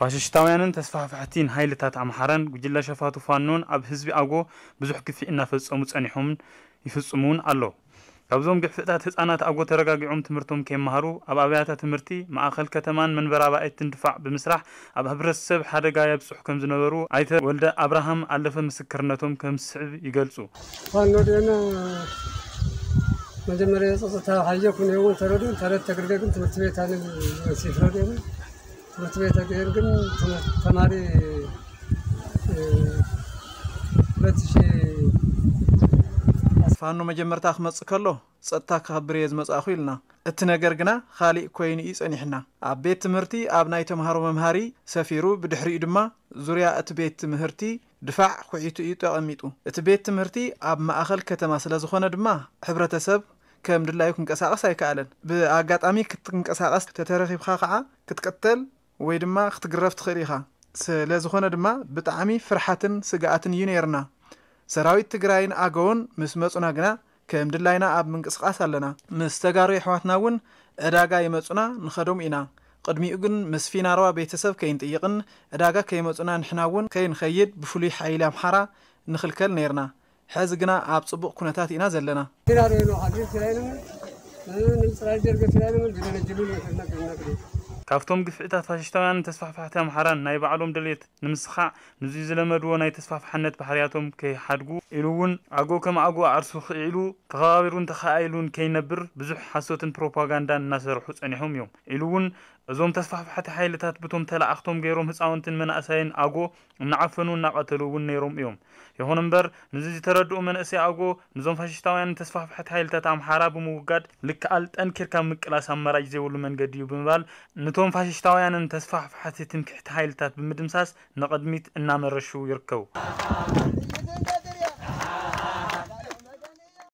ፋሽስታውያንን ተስፋሕፋሕቲን ሓይልታት ኣምሓራን ጉጅለ ሸፋቱ ፋኖን ኣብ ህዝቢ ኣጎ ብዙሕ ግፍዒ እናፈጸሙ ጸኒሖምን ይፍጽሙ እውን ኣሎ። ካብዞም ግፍዕታት ህጻናት ኣጎ ተረጋጊዖም ትምህርቶም ከይመሃሩ ኣብ ኣብያተ ትምህርቲ፣ ማእኸል ከተማን መንበሪ ኣባይትን ድፋዕ ብምስራሕ ኣብ ሕብረተሰብ ሓደጋ የብጽሑ ከም ዝነበሩ ኣይተ ወልደ ኣብርሃም ኣለፈ ምስክርነቶም ከም ዝስዕብ ይገልጹ። ፋኖ ደና መጀመሪያ የጸጸታ ሓየኩ ነው ተረዱ ተረት ተግርደ ግን ትምህርት ቤት ኣነ ሲፍረደና ትምህርት ቤት ግን ተማሪ ሁለት ሺህ ፋኖ መጀመርታ ክመጽእ ከሎ ጸጥታ ከኽብር እየ ዝመጻእኹ ኢልና። እቲ ነገር ግና ኻሊእ ኮይኑ እዩ ጸኒሕና። ኣብ ቤት ትምህርቲ ኣብ ናይ ተምሃሮ መምሃሪ ሰፊሩ፣ ብድሕሪኡ ድማ ዙርያ እቲ ቤት ትምህርቲ ድፋዕ ኩዒቱ እዩ ተቐሚጡ። እቲ ቤት ትምህርቲ ኣብ ማእኸል ከተማ ስለ ዝኾነ ድማ ሕብረተሰብ ከም ድላዩ ክንቀሳቐስ ኣይከኣለን። ብኣጋጣሚ ክትንቀሳቐስ ተተረኺብካ ከዓ ክትቅተል ወይ ድማ ክትግረፍ ትኽእል ኢኻ። ስለ ዝኾነ ድማ ብጣዕሚ ፍርሓትን ስግኣትን እዩ ነይርና። ሰራዊት ትግራይን ኣገውን ምስ መፁና ግና ከም ድላይና ኣብ ምንቅስቃስ ኣለና። ምስ ተጋሩ የሕዋትና እውን ዕዳጋ ይመፁና ንኸዶም ኢና። ቅድሚኡ ግን ምስ ፊናርዋ ቤተሰብ ከይንጥይቕን ዕዳጋ ከይመፁና ንሕና እውን ከይንኸይድ ብፍሉይ ሓይሊ ኣምሓራ ንኽልከል ነይርና። ሕዚ ግና ኣብ ፅቡቕ ኩነታት ኢና ዘለና። ፊናርዋ ነው ሓድር ፊናርዋ ነው። ንምፅራይ ጀርገ ፊናርዋ ነው። ግደነ ጅሉ ነው። ካብቶም ግፍዕታት ፋሽስታውያን ተስፋሕፋሕቲ ኣምሓራን ናይ ባዕሎም ድሌት ንምስኻዕ ንዙይ ዝለመድዎ ናይ ተስፋሕፋሕነት ባህርያቶም ከይሓድጉ ኢሉ እውን ኣጎ ከም ኣጎ ኣዕርሱ ክዒሉ ተኸባቢሩን ተኸኣኢሉን ከይነብር ብዙሕ ሓሶትን ፕሮፓጋንዳን እናሰርሑ ጸኒሖም እዮም ኢሉ እውን እዞም ተስፋሕፋሕቲ ሓይልታት ብቶም ተላኣኽቶም ገይሮም ህፃውንትን መናእሳይን ኣጎ እናዓፈኑ እናቐተሉ እውን ነይሮም እዮም። ይኹን እምበር ንዚ ዝተረድኡ መንእሰይ ኣጎ ንዞም ፋሽስታውያንን ተስፋሕፋሕቲ ሓይልታት ኣምሓራ ብምውጋድ ልክኣል ጠንኪርካ ምቅላስ ኣማራጭ ዘይብሉ መንገዲ እዩ ብምባል ንቶም ፋሽስታውያንን ተስፋሕፋሕቲ ትምክሕቲ ሓይልታት ብምድምሳስ ንቕድሚት እናመረሹ ይርከቡ።